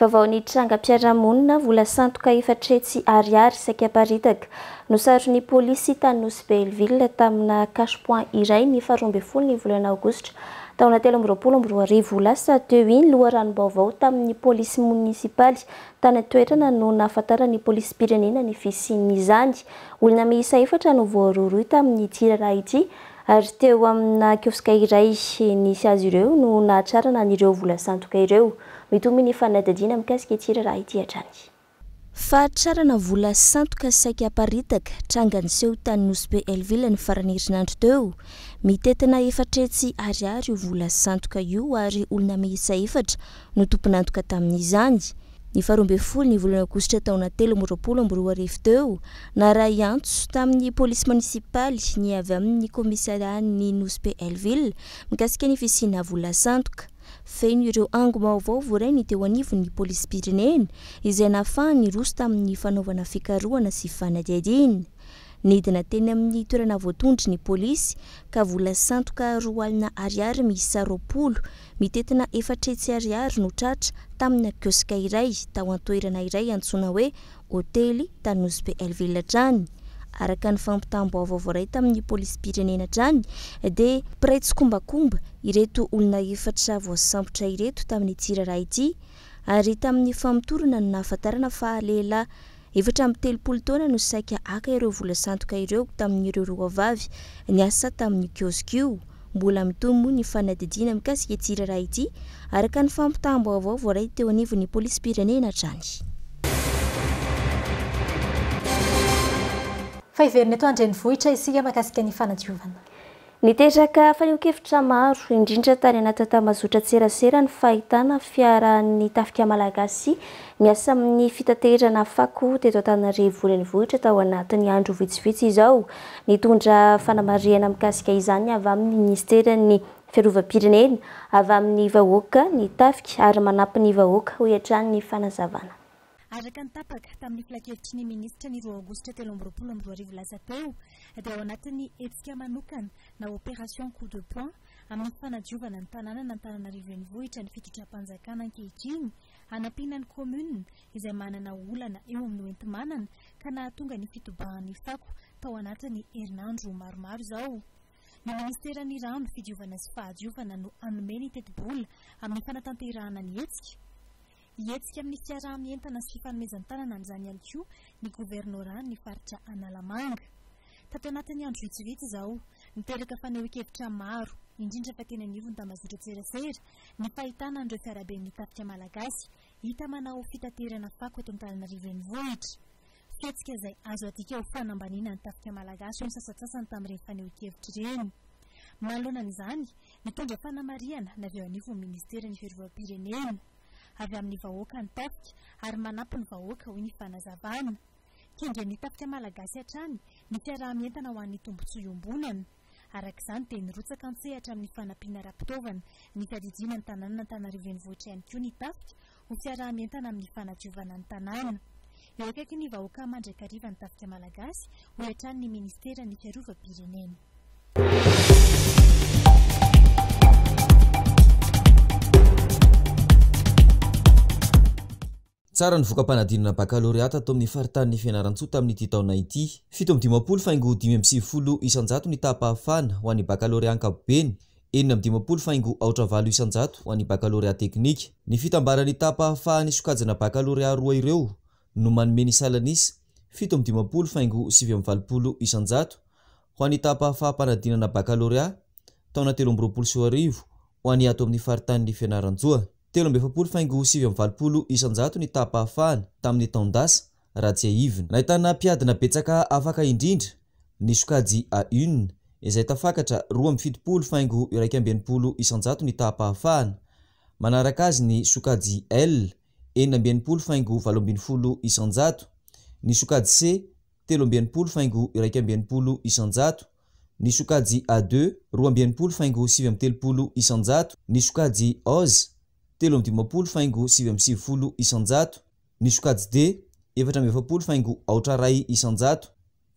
Vaovao nitrangam-piarahamonina, vola sandoka 400 ariary saika aparitaka. Nosaron'ny polisy tany Nosy Be Helleville tamina cash point iray ny faharoa ambin'ny folo ny volana aogositra taona 2023 lasa teo iny. Loharanom-baovao tamin'ny polisy monisipaly tany an-toerana no nahafantaran'ny polisim-pirenena ny fisian'izany. Olona miisa efatra no voarohirohy tamin'ity raharaha ity ary teo amina kioska iray nisy azy ireo no nahatrarana an'ireo vola sandoka ireo. Mitohy ny fanadihadiana mikasika ity raharaha ity hatrany. Fahatrarana vola sandoka saika aparitaka, tranga niseho tany Nosy Be Helleville ny faran'ny herinandro teo. Mitentina 400 ariary io vola sandoka io ary olona miisa efatra no tompon'antoka tamin'izany. Ny faharoa ambin'ny folo ny volana aogositra taona 2023 teo, naharay antso tamin'ny polisy monisipaly ny avy amin'ny kaomisarian'ny Nosy Be Helleville mikasika ny fisiana vola sandoka. Feno ireo angom-baovao voarainy teo anivon'ny polisim-pirenena izay nahafahany niroso tamin'ny fanaovana fikarohana sy fanadihadiana. Nidina teny amin'ny toerana voatondro ny polisy ka vola sandoka 20 ariary miisa 20 mitentina 400 ariary no tratra tamina kioska iray tao an-toerana iray antsoina hoe Hotely tany Nosy Be Helleville hatrany. Araka ny fampitam-baovao voaray tamin'ny polisim-pirenena hatrany dia mpiray tsikombakomba ireto olona efatra voasambotra ireto tamin'ity raharaha ity ary tamin'ny famotorana no nahafantarana fa lehilahy 34 taona no saika haka ireo vola sandoka ireo tamin'ireo roa vavy niasa tamin'io kioska io. Mbola mitohy moa ny fanadihadiana mikasika ity raharaha ity araka ny fampitam-baovao voaray teo anivon'ny polisim-pirenena hatrany. Fa hiverina eto an-drenivohitra isika mahakasika ny fanadiovana. Niteraka fanehoan-kevitra maro, indrindra tany anaty tambazotran-tserasera ny fahitana fiaran'ny tafika malagasy miasa amin'ny fitaterana fako teto Antananarivo renivohitra tao anatin'ny andro vitsivitsy izao. Nitondra fanamarihana mikasika izany avy amin'ny minisiteran'ny fiarovam-pirenena, avy amin'ny vahoaka ny tafika ary manampy ny vahoaka, hoy hatrany ny fanazavana. Araka ny tapaka tamin'ny filankevitry ny minisitra ny 2 aogositra 2023 lasa teo dia ao anatin'ny hetsika manokana na opération coup de poing amin'ny fanadiovana ny tanànan'Antananarivo renivohitra ny fitondram-panjakana ankehitriny hanampiana ny commune izay manana olana eo amin'ny hoenti-manana ka nahatonga ny fitobahan'ny fako tao anatin'ny herinandro maromaro izao. Ny ministeran'ny rano, fidiovana sy fahadiovana no hanome ny tetibola amin'ny fanatanterahana ny hetsika. Hihetsika amin'ny fiaraha-mientana sy fifanomezan-tanana amin'izany ihany koa ny governoran'ny faritra Analamanga. Tato anatin'ny andro vitsivitsy izao, niteraka fanehoan-kevitra maro, indrindra fa teny anivon'ny tambazotran-tserasera, ny fahitana an'ireo fiaraben'ny tafika malagasy hita manao fitaterana fako eto Antananarivo renivohitra. Fihetsika izay azo adika ho fanambaniana ny tafika malagasy hoy ny sasantsasany tamin'ireny fanehoan-kevitra ireny. Manoloana an'izany, nitondra fanamarihana ny avy eo anivon'ny ministeran'ny fiarovam-pirenena. Avy amin'ny vahoaka ny tafika ary manampy ny vahoaka hoy ny fanazavana. Kendren'ny tafika malagasy hatrany ny fiaraha-mientana ho an'ny tombontsoa iombonana. Araka izany dia nirotsaka an-tsehatra amin'ny fanampiana ara-pitaovana ny fiadidiana ny tanànan'Antananarivo renivohitra ihany koa ny tafika ho fiaraha-mientana amin'ny fanadiovana ny tanàna. Eo akaikin'ny vahoaka mandrakariva ny tafika malagasy, hoy hatrany ny ministeran'ny fiarovam-pirenena. Tsara ny voka-panadinana bakalorea tato amin'ny faritanin'i Fianarantsoa tamin'ity taona ity. 57.95% ny taham-pahafahana ho an'ny bakalorea ankapobeny, 56.08% ho an'ny bakalorea teknika. Ny fitambaran'ny taham-pahafahan'ny sokajina bakalorea roa ireo no manome ny salan'isa 57.89% ho an'ny taham-pahafaham-panadinana bakalorea taona 2023 ho an'ny ato amin'ny faritanin'i Fianarantsoa. 43.89% ny taham-pahafahana tamin'ny taon-dasa, raha tsiahivina. Nahitana mpiadina betsaka afaka indrindra ny sokajy A une, izay tafakatra 72.61% ny taham-pahafahana. Manaraka azy ny sokajy L, 66.18%, ny sokajy C, 63.61%, ny sokajy A2, 62,39%, ny sokajy OZ, 53,99%, ny sokajy D, 44,01%,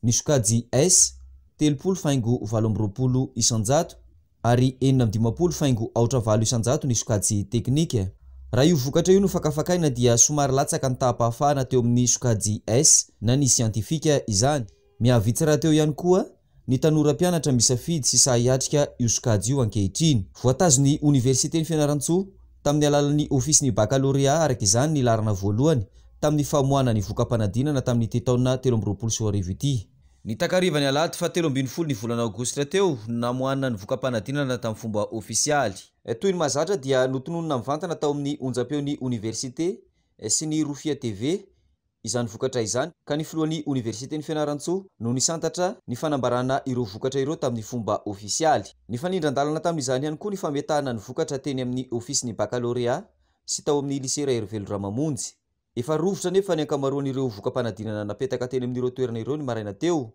ny sokajy S, 30,28%, ary 56,08% ny sokajy teknika. Raha io vokatra io no fakafakaina dia somary latsaka ny taham-pahafahana teo amin'ny sokajy S na ny siantifika izany. Mihavitsy rahateo ihany koa ny tanora mpianatra misafidy sy sahy hiatrika io sokajy io ankehitriny. Voatazon'ny Oniversiten'i Fianarantsoa tamin'ny alalan'ny Ofisin'ny Bakalorea araka izany ny laharana voalohany tamin'ny famoahana ny voka-panadinana tamin'ity taona 2023 ity. Ny takarivan'ny alahady faha 13 ny volana aogositra teo no namoahana ny voka-panadinana tamin'ny fomba ofisialy. Toy ny mahazatra dia notononina mivantana tao amin'ny onjam-peon'ny Oniversite sy ny Rofia TV izany vokatra izany ka ny filohan'ny Oniversiten'i Fianarantsoa no nisantatra ny fanambarana ireo vokatra ireo tamin'ny fomba ofisialy. Nifanindran-dalana tamin'izany ihany koa ny fametahana ny vokatra teny amin'ny Ofisin'ny Bakalorea sy tao amin'ny Lycée Raherivelo Ramamonjy. Efa rovitra anefa ny ankamaroan'ireo voka-panadinana napetaka teny amin'ireo toerana ireo ny maraina teo,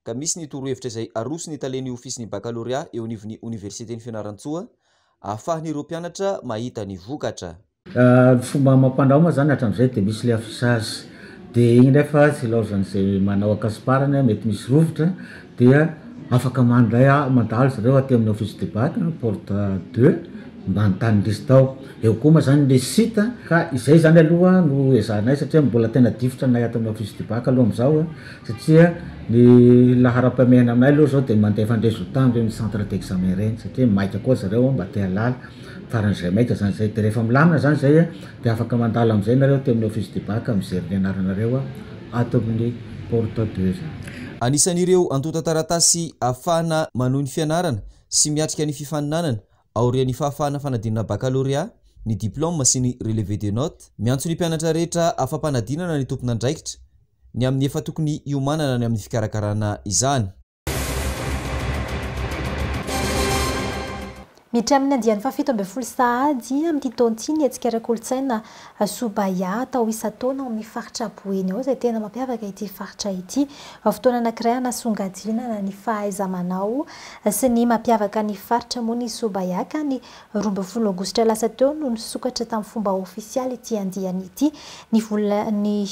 ka misy ny torohevitra izay aroson'ny talen'ny Ofisin'ny Bakalorea eo anivon'ny Oniversiten'i Fianarantsoa ahafahan'ireo mpianatra mahita ny vokatra. Ny fomba amam-panao moa zany hatramizay de misy le affichage de igny nefa tsy ilaozan'izay manao ankasiparany mety misy rovitra dia afaka mandray mandalo zareo aty amin'ny office du bac porte deux mba hanontany liste ao, eo koa moa zany le site ka izay zany aloha no ezahanay satria mbola tena difotra anay ato amin'ny office du bac aloha amizao satria ny laharam-pahamehana aminay aloha zao de mandefa ny résultat amreny centre d'examen reny satria maika koa zareo mba te hahalala faran'izay maika zany zay de rehefa milamina zany zay de afaka mandalo amizay nareo aty amin'ny office du bac mijery ny anaranareo ato amin'ny porte deux zany. Anisan'ireo antontan-taratasy ahafahana manohy ny fianarana sy miatrika ny fifaninanana aorian'ny fahafahana fanadinana bakalorea ny diplaoma sy ny relevé de notes. Miantso ny mpianatra rehetra afa-panadinana ny tompon'andraikitra ny amin'ny efa tokony hiomanana ny amin'ny fikarakarana izany. Miditra amin'ny andiany faha-17 sahady amin'ity taona ity ny hetsika ara-kolontsaina Sobahya atao isan-taona ao amin'ny faritra Boeny ao izay tena mampiavaka ity faritra ity. Fotoana anankiray hanasongadinana ny fahaiza-manao sy ny mampiavaka ny faritra moa ny Sobahya ka ny 12 aogositra lasa teo no nisokatra tamin'ny fomba ofisialy ity andiany ity. Ny volan'ny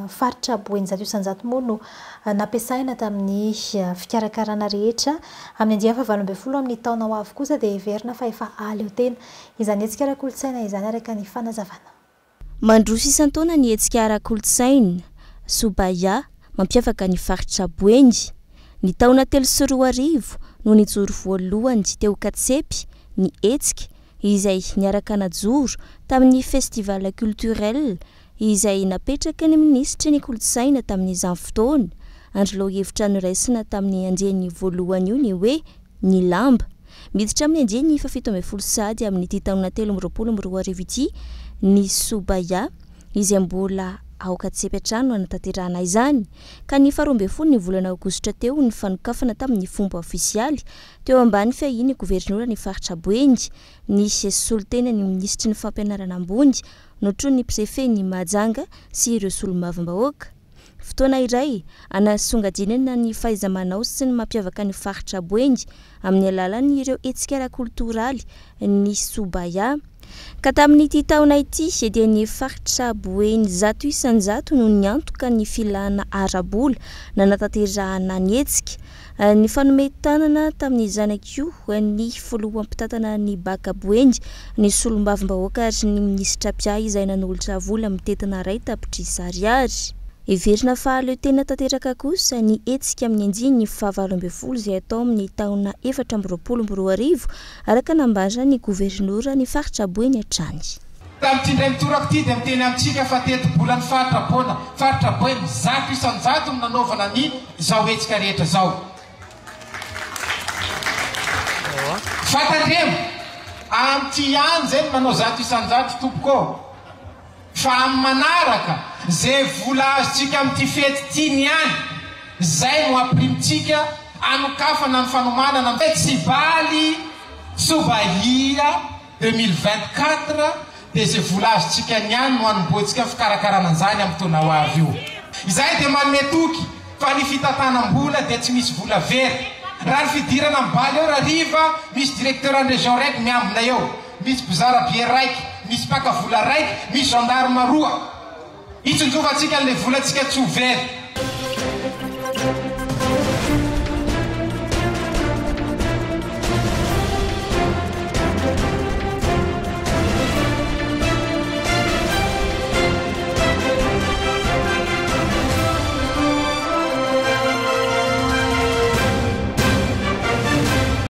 faritra Boeny 100% moa no nampiasaina tamin'ny fikarakarana rehetra. Amin'ny andiany faha-18 amin'ny taona ho avy kosa dia heverina fa efa hahaleo tena izany hetsika ara-kolontsaina izany araka ny fanazavana. Mandroso isan-taona ny hetsika ara-kolontsaina, Sobahya, mampiavaka ny faritra Boeny. Ny taona 2003 no nijoro voalohany teo Katsepy ny hetsika izay niaraka najoro tamin'ny Festival culturel izay napetraky ny minisitry ny kolontsaina tamin'izany fotoana. Andro lohahevitra noraisina tamin'ny andiany voalohany io ny hoe ny lamba. Miditra amin'ny andiany faha-17 sahady amin'ity taona 2023 ity ny Sobahya izay mbola ao Katsepy hatrany no hanatanterahana izany ka ny faha-12 ny volana aogositra teo ny fanokafana tamin'ny fomba ofisialy teo ambany fiahian'ny governora ny faritra Boeny ny solontenan'ny minisitry ny fampianarana ambony notronin'ny prefet-n'i Mahajanga sy ireo solombavambahoaka. Fotoana iray hanasongadinana ny fahaiza-manao sy ny mampiavaka ny faritra Boeny amin'ny alalan'ireo hetsika ara-koltoraly ny Sobahya. Ka tamin'ity taona ity dia ny faritra Boeny 100% no niantoka ny filana ara-bola nanatanterahana ny hetsika. Nifanome tanana tamin'ny zanak'io ny filoha mpitantana ny Baka Boeny, ny solombavambahoaka ary ny minisitra mpiahy izay nanolotra vola mitentina iray tapitrisa ariary. Heverina fa hahaleo tena tanteraka kosa ny hetsika amin'ny andiany faha-18 izay hatao amin'ny taona 2024, araka nambaran'ny governora ny faritra Boeny hatrany. Tamin'ity indray mitoraka ity dia miteny amintsika fa tetibolan'ny faritra Boina, faritra Boeny, 100% no nanaovana ny izao hetsika rehetra izao. Fa tandremo, amin'ity ihany izay no manao 100% tompoko ô! Fa amin'ny manaraka, izay vola azontsika amin'ity fety ity ny any, izay no ampirimitsika hanokafana ny fanomanana ny Festivaly Sobahia 2024 dia izay vola azontsika niany no hanombohantsika ny fikarakarana an'izany amin'ny taona ho avy io. Izahay dia manome toky fa ny fitantanam-bola dia tsy misy vola very. Raha ny fidirana am bal eo rariva, misy directeur ny région raiky miambina eo, misy mpizara bière raiky, misy mpaka vola raiky, misy gendarme roa. Hitsinjovantsika an'le volantsika tsy ho very.